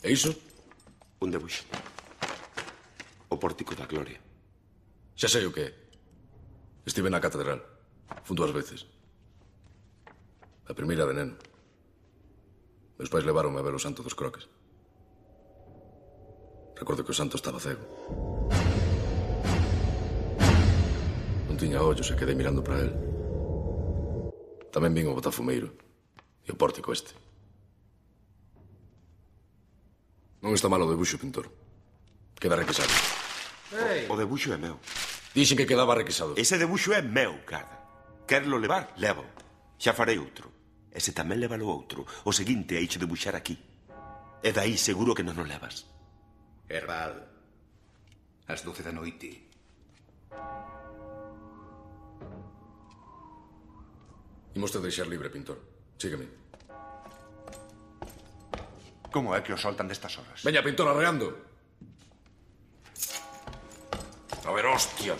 E iso? Un debuxo. O pórtico da gloria. Xa sei o que é. Estive na catedral. Fun 2 veces. A primeira de neno. Meus pais levaronme a ver o santo dos croques. Recordo que o santo estaba cego. Non tiña ollos e quedei mirando para él. Tamén vin o botafumeiro e o pórtico este. Non está mal o debuxo, pintor. Queda requesado. O debuxo é meu. Dixen que quedaba requesado. Ese debuxo é meu, Garda. Querlo levar? Levo. Xa farei outro. E se tamén levalo outro, o seguinte hai che debuxar aquí. E dai seguro que non o levas. Herbal. Ás 12 da noite. Imos te deixar libre, pintor. Sígueme. Como é que o soltan destas horas? Veña, pintor, arreando. A ver, hostia.